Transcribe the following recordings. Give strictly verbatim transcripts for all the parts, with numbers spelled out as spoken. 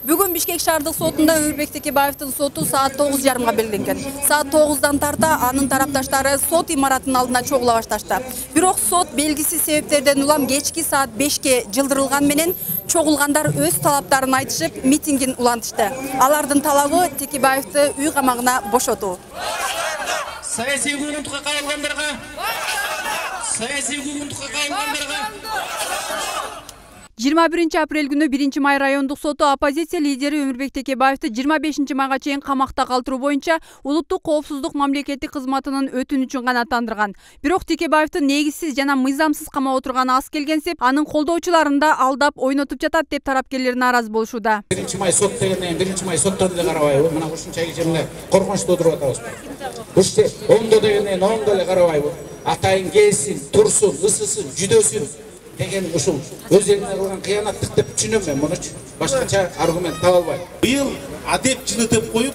Бүгүн Бишкек шаардык сотунда Өмүрбек Текебаевдин соту саат тогуз жарымга белгиленген. Саат тогуздан тарта анын тарапташтары сот имаратынын алдына чогула башташты. Бирок сот белгисиз себептерден улам кечки саат бешке жылдырылган менен чогулгандар өз талаптарын айтышып, митингин улантышты. Алардын талабы Текебаевди үй камагына бошотуу. Саясий укугунтукка кайрылгандарга, саясий укугунтукка кайрылгандарга жыйырма биринчи апрель күнү биринчи май райондук соту оппозиция лидери Өмүрбек Текебаевди жыйырма бешинчи майга чейин камакта калтыруу боюнча улуттук коопсуздук мамлекеттик кызматынын өтүнүчүн гана тандырган. Бирок Текебаевдин негизсиз жана мыйзамсыз камап отурганы аз келгенсип, анын колдоочуларын да алдап ойнотуп жатат деп тараптерлер нааразы болушууда. биринчи май сот дегенден биринчи май соттон эле карабайбы? Мына ушунча жерде коркунучта отуруп атабызбы? Уште ондо дегенден ондо эле карабайбы? Атайын келсин, турсун, ысысын, жүдөсүн деген ушул өз элине кылган кыянаттык деп түшүнөм мен мунучу. Башкача аргумент таба албайм. быйыл адеп жылытып коюп,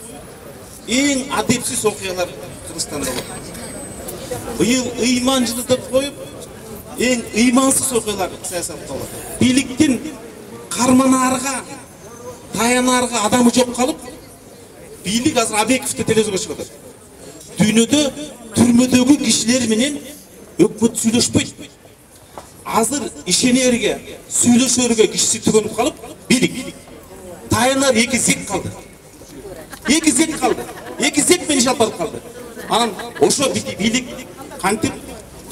эң адепсиз окуялар Кыргызстанда болот. Быйыл ыйман жылытып коюп, эң ыймансыз окуялар саясатта болот. Бийликтин карманаарга, таянаарга адамы жок калып, бийлик азыр Абековду телевизорго чыгып атат. Дүйнөдө түрмөдөгү кишилер менен өкмөт сүйлөшпөйт. Азыр ишенерге, сүйлөшөргө кишиси түгөнүп калып, бийлик таянар эки зек калды. Эки зек калды. Эки зек менен иш алып барып калды. Анан ошо бийлик кантип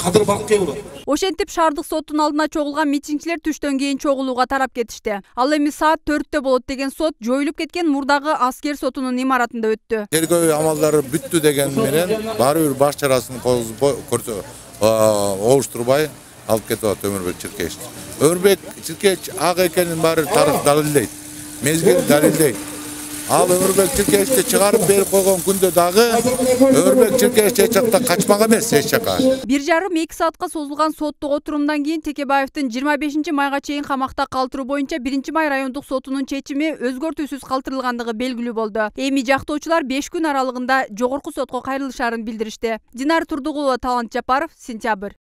кадыр баркы болот. Ошентип шаардык соттун алдына чогулган митингчилер түштөн кийин чогулууга тарап кетишти. Ал эми саат төрттө болот деген сот жоюлуп кеткен мурдагы аскер сотунун имаратында өттү. Тергөө амалдары бүттү деген менен баары бир баш чарасын обуштурбай алып кетип атат Өмүрбек Чиркеевич. Өмүрбек Чиркеевич ак экенин баары тарых далилдейт. Мезгил далилдейт. Ал Өмүрбек Чиркеевичти чыгарып берип койгон күндө дагы Өмүрбек Чиркеевич эч жакта качмак эмес, эч жака. бир жарым эки саатка созулган соттук отурумдан кийин Текебаевдин жыйырма бешинчи майга чейин камакта калтыруу боюнча биринчи май райондук сотунун чечими өзгөртүүсүз калтырылгандыгы белгилүү болду. Эми жактоочулар беш күн аралыгында жогорку сотко кайрылышарын билдиришти. Динар Турдугулова, Талант Жапаров, Сентябрь.